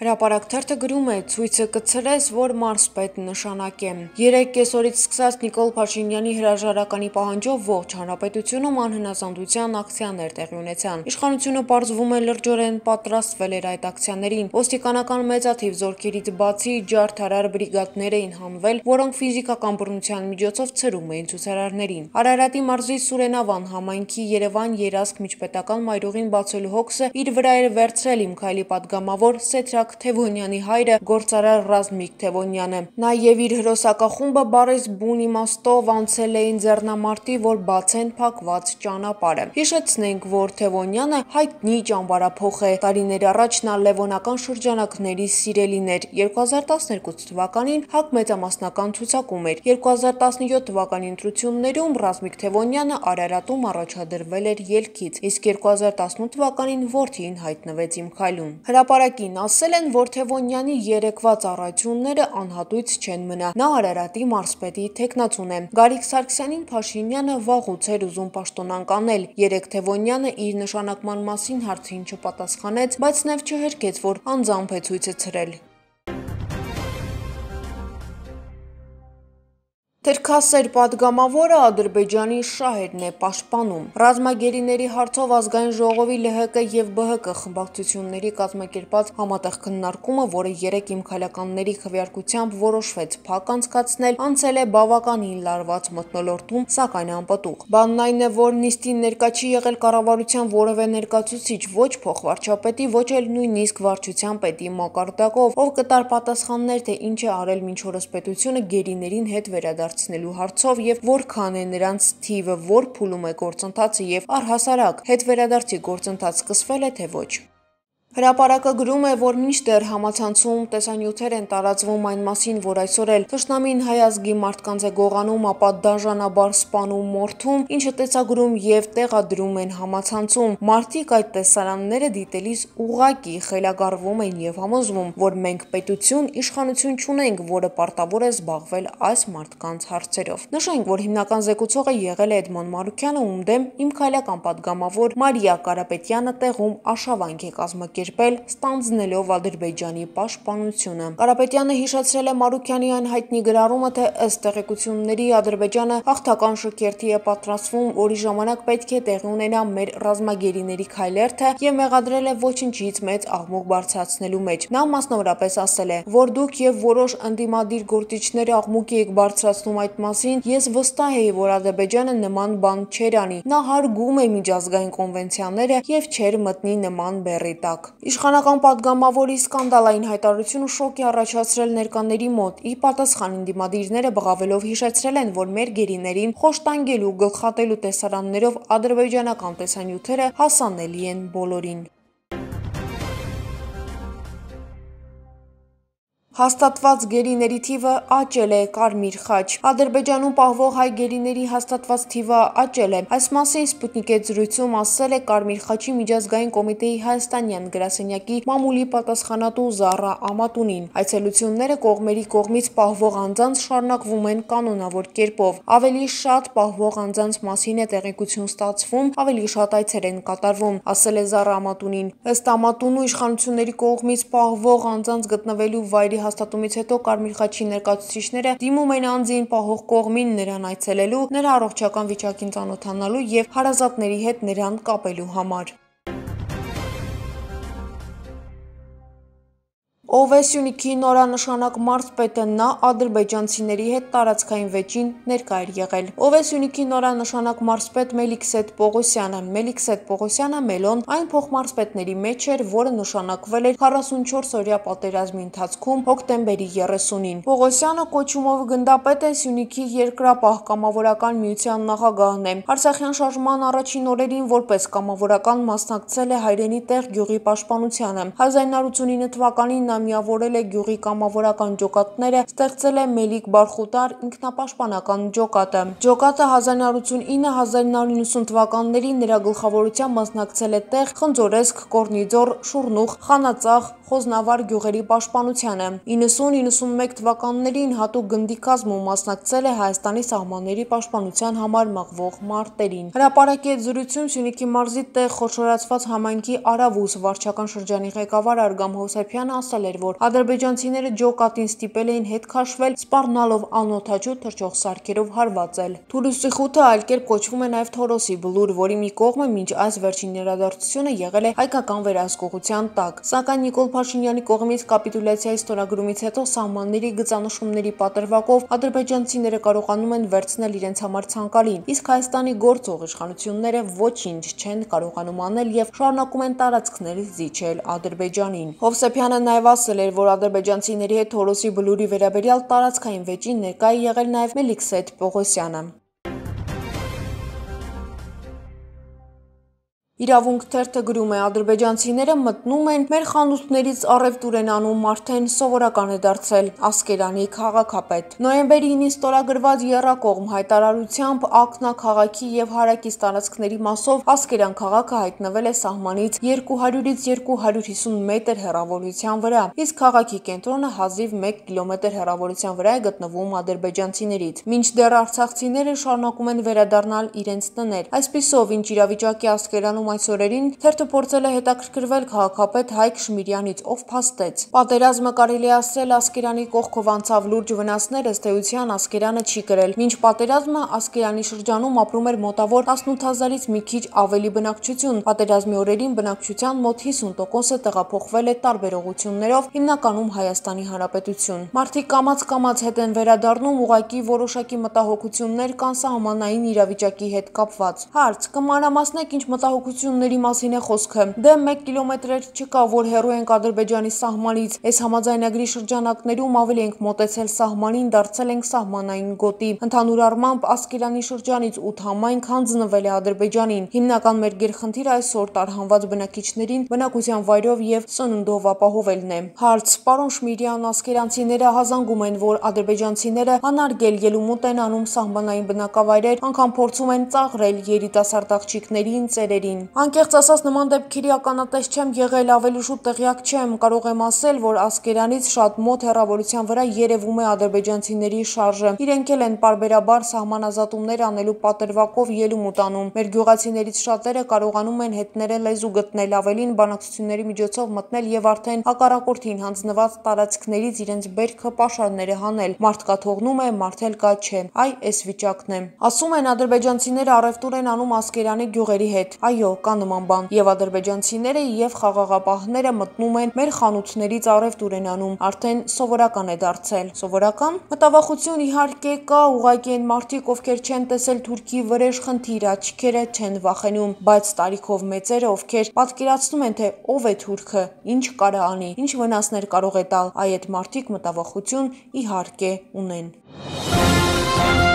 Հրապարակ թերթը գրում է՝ ցույցը կցրես, որ մարզպետ նշանակ է։ 3 կեսօրից սկսած Նիկոլ Փաշինյանի հրաժարականի պահանջով ողջ հանրապետությունում անհնազանդության ակցիաներ տեղի ունեցան։ Իշխանությունը պարզվում է լրջորեն պատրաստվել էր այդ ակցիաներին։ Ոստիկանական մեծաթիվ զորքերից բացի ջարդարար բրիգադներ էին հանվել, որոնք ֆիզիկական բռնության միջոցով ցրում էին ցուցարարներին։ Արարատի մարզի Սուրենավան համայնքի Երևան երազք միջպետական մայրուղին բացելու հոգսը իր վրա էր վերցրել Իմ քայլի պատգամավոր Սեդրակ Թևոնյանի հայրը գործարար Ռազմիկ Թևոնյանը։ Նա եւ իր հրոսակախումբը բարես բուն իմաստով անցել էին ձեռնամարտի, որ բացեն փակված ճանապարհը։ Հիշեցնենք, որ Թևոնյանը հայտնի ճամբարափոխ է։ Տարիներ առաջ նա լևոնական շրջանակների սիրելին էր։ 2012 թվականին ՀԱԿ մեծամասնական ցուցակում էր։ 2017 թվականի ընտրություններում Ռազմիկ Թևոնյանը Արարատում առաջադրվել էր ելքից, իսկ 2018 թվականին որդին հայտնվեց Իմ քայլում։ Հրապարակին ասել են, որ Թևոնյանի երեկվա ծառայությունները անհատույց չեն մնա։ Նա Արարատի մարզպետի թեկնածուն է։ Գարիկ Սարգսյանին Փաշինյանը վաղուց էր ուզում պաշտոնանկ անել։ Երեկ Թևոնյանը իր նշանակման մասին հարցին չպատասխանեց, բայց նաև չհերքեց, որ անձամբ է ցույցը ցրել։ Թերքասեր պատգամավորը Ադրբեջանի շահերն է պաշտպանում։ Ռազմագերիների հարցով ազգային ժողովի ԼՀԿ եւ ԲՀԿ խմբակցությունների կազմակերպած համատեղ քննարկումը, որը երեկ Իմ քայլականների քվեարկությամբ որոշվեց փակ անցկացնել, անցել է բավականին լարված մթնոլորտում, սակայն անպտուղ։ Բանն այն է, որ նիստին ներկա չի եղել կառավարության որևէ ներկայացուցիչ, ոչ փոխվարչապետի, ոչ էլ նույնիսկ վարչության պետի մակարդակով, ով կտար պատասխաններ, թե ինչ է արել մինչ օրս պետությունը գերիներին հետ վերադարձնելու հարցով եւ որքան է նրանց թիվը, որ փուլում է գործընթացը եւ առհասարակ հետվերադարձի գործընթաց սկսվել է թե ոչ։ Հրապարակը գրում է, որ մինչդեռ համացանցում տեսանյութեր են տարածվում այն մասին, որ այսօր էլ թշնամին հայ ազգի մարդկանց է գողանում, ապա դաժանաբար սպանում, մորթում, ինչը տեսագրում եւ տեղադրում են համացանցում, մարդիկ այդ տեսարանները դիտելիս ուղղակի խելագարվում են եւ համոզվում, որ մենք պետություն, իշխանություն չունենք, որը պարտավոր է զբաղվել այս մարդկանց հարցերով։ Նշենք, որ հիմնական զեկուցողը եղել է Էդմոն Մարուքյանը, ում դեմ Իմ քայլական պատգամավոր Մարիա Կարապետյանը տեղում արշավանք է կազմակերպել, ստանձնելով Ադրբեջանի պաշտպանությունը։ Կարապետյանը հիշեցրել է Մարուքյանի այն հայտնի գրառումը, թե ըստ տեղեկությունների Ադրբեջանը հաղթական շքերթի է պատրաստվում, որի ժամանակ պետք է տեղի ունենա մեր ռազմագերիների քայլերթը եւ մեղադրել է ոչնչից մեծ աղմուկ բարձրացնելու մեջ։ Նա մասնավորապես ասել է, որ դուք եւ որոշ ընդդիմադիր գործիչներ աղմուկ եք բարձրացնում այդ մասին, ես վստահ եի, որ Ադրբեջանը նման բան չէր անի։ Նա հարգում է միջազգային կոնվենցիաները եւ չէր մտնի նման բեռի տակ։ Իշխանական պատգամավորի սկանդալային հայտարարությունը շոկ է առաջացրել ներկաների մոտ։ Ի պատասխան ընդդիմադիրները բղավելով հիշեցրել են, որ մեր գերիներին խոշտանգելու, գլխատելու տեսարաններով ադրբեջանական տեսանյութերը հասանելի են բոլորին։ Հաստատված գերիների թիվը աճել է, Կարմիր խաչ։ Ադրբեջանում պահվող հայ գերիների հաստատված թիվը աճել է։ Այս մասին Սպուտնիկի հետ զրույցում ասել է Կարմիր խաչի միջազգային կոմիտեի հայաստանյան գրասենյակի մամուլի պատասխանատու Զառա Ամատունին։ Այցելությունները կողմերի կողմից պահվող անձանց շարունակվում են կանոնավոր կերպով։ Ավելի շատ պահվող անձանց մասին է տեղեկություն ստացվում, ավելի շատ այցեր են կատարվում, ասել է Զառա Ամատունին։ Ըստ Ամատունու իշխանությունների կողմից պահվող անձանց գտնվելու վայրի հաստատումից հետո Կարմիր խաչի ներկայացուցիչները դիմում են անձին պահող կողմին նրան այցելելու, նրա առողջական վիճակին ծանոթանալու եւ հարազատների հետ նրան կապելու համար։ Ով է Սյունիքի նորանշանակ մարզպետը, նա ադրբեջանցիների հետ տարածքային վեճին ներկա էր եղել։ Ով է Սյունիքի նորանշանակ մարզպետ Մելիքսեթ Պողոսյանը։ Մելիքսեթ Պողոսյանը Մելոն այն փոխմարզպետների մեջ էր, որը նշանակվել էր 44-օրյա պատերազմի ընթացքում հոկտեմբերի 30-ին։ Պողոսյանը կոչումով գնդապետ է, Սյունիքի երկրապահ կամավորական միության նախագահն է։ Արցախյան շարժման առաջին օրերին որպես կամավորական մասնակցել է հայրենի տեղ գյուղի պաշտպանությանը։ 1989 թվականին նա միավորել է գյուղի կամավորական ջոկատները, ստեղծել է Մելիք Բարխուտար ինքնապաշտպանական ջոկատը։ Ջոկատը 1989-1990 թվականներին նրա գլխավորությամբ մասնակցել է տեղ, Խնձորեսկ, Կորնիձոր, Շուռնուխ, Խանածախ, խոզնավար գյուղերի պաշտպանությանը։ 90-91 թվականներին հատուկ գնդի կազմում մասնակցել է Հայաստանի սահմանների պաշտպանության համար մղվող մարտերին։ Հրապարակի հետ զրույցում Սյունիքի մարզի տեղ խոշորացված համայնքի Արավուս վարչական շրջանի ղեկավար Արգամ Հովսեփյանը ասել էր, որ ադրբեջանցիները ջոկատին ստիպել էին հետ քաշվել, սպառնալով անօդաչու թռչող սարքերով հարվածել։ Թուրուսի խութը այլ կերպ կոչվում է նաև Թորոսի բլուր, որի մի կողմը մինչ այս վերջին իրադարձությունը եղել է հայկական վերահսկողության տակ։ Սակայն Նիկոլ Փաշինյանի կողմից կապիտուլյացիայի ստորագրումից հետո սահմանների գծանշումների պատրվակով ադրբեջանցիները կարողանում են վերցնել իրենց համար ցանկալին, իսկ Հայաստանի գործող իշխանությունները ոչինչ չեն կարողանում անել եւ շարունակում են տարածքներից զիջել Ադրբեջանին։ Հովսեփյանը նաև ասել էր, որ ադրբեջանցիների հետ Թորոսի բլուրի վերաբերյալ տարածքային վեճին ներկա է եղել նաև Մելիքսեթ Պողոսյանը։ Իրավունք թերթը գրում է. ադրբեջանցիները մտնում են մեր խանութներից առևտուր են անում, արդեն սովորական է դարձել։ Ասկերանի քաղաքապետ։ Նոյեմբերի 9-ին ստորագրված եռակողմ հայտարարությամբ Ակնա քաղաքի եւ հարակից տարածքների մասով Ասկերան քաղաքը հայտնվել է սահմանից 200-ից 250 մետր հեռավորության վրա, իսկ քաղաքի կենտրոնը հազիվ 1 կիլոմետր հեռավորության վրա է գտնվում ադրբեջանցիներից։ Մինչդեռ արցախցիները շարունակում են վերադառնալ իրենց տներ։ Այսպիսով, ինչ իրավիճակի Ասկերանում այս օրերին թերթը փորձել է հետաքրքրվել քաղաքապետ Հայկ Շմիրյանից, ով փաստեց. Պատերազմը կարելի է ասել Ասկերանի կողքով անցավ, լուրջ վնասներ ըստ էության Ասկերանը չի կրել։ Մինչ պատերազմը Ասկերանի շրջանում ապրում էր մոտավոր 18,000-ից մի քիչ ավելի բնակչություն։ Պատերազմի օրերին բնակչության մոտ 50%-ը տեղափոխվել է տարբեր ուղղություններով, հիմնականում Հայաստանի Հանրապետություն։ Մարդիկ կամաց-կամաց հետ են վերադառնում, ուղղակի որոշակի մտահոգություններ կան սահմանային իրավիճակի հետ կապված։ Հարց. կմանրամասնեք, ինչ մտահոգությունների մասին է խոսքը։ Դե 1 կիլոմետր չկա, որ հեռու ենք Ադրբեջանի սահմանից։ Այս համաձայնագրի շրջանակներում ավելի ենք մոտեցել սահմանին, դարձել ենք սահմանային գոտի։ Ընդհանուր առմամբ Ասկերանի շրջանից 8 համայնք հանձնվել է Ադրբեջանին։ Հիմնական մեր գերխնդիրը այսօր տարհանված բնակիչներին բնակության վայրով եւ սնունդով ապահովելն է։ Հարց. Պարոն Շմիրյան, ասկերանցիները հազանգում են, որ ադրբեջանցիները անարգել ելումուտ են անում սահմանային բնակավայրեր, անգամ փորձում են ծաղրել երիտասարդ աղջիկներին, ծերերին։ Անկեղծ ասած, նման դեպքերի ականատես չեմ եղել, ավելի շուտ տեղյակ չեմ, կարող եմ ասել, որ Ասկերանից շատ մոտ հեռավորության վրա երևում է ադրբեջանցիների շարժը։ Իրենք էլ են պարբերաբար սահմանազատումներ անելու պատրվակով ելումուտ անում։ Մեր գյուղացիներից շատերը կարողանում են հետները լեզու գտնել, ավելին բանակցությունների միջոցով մտնել եւ արդեն հակառակորդին հանձնված տարածքներից իրենց բերքը պաշարները հանել։ Մարդ կա թողնում է, մարդ էլ կա չէ։ Այ էս վիճակն է։ Ասում են ադրբեջանցիները առևտուր են անում Ասկերանի գյուղերի հետ։ Այո, կա նման բան։ Եվ ադրբեջանցիները եւ խաղաղապահները մտնում են մեր խանութներից առևտուր են անում, արդեն սովորական է դարձել։ Սովորական։ Մտավախություն իհարկե կա, ուղղակի են մարդիկ, ովքեր չեն տեսել Թուրքի վրեժ խնդիր, աչքերը չեն վախենում, բայց տարիքով մեծերը, ովքեր պատկերացնում են, թե ով է Թուրքը, ինչ կարա անի, ինչ վնասներ կարող է տալ, այդ մարդիկ մտավախություն իհարկե ունեն։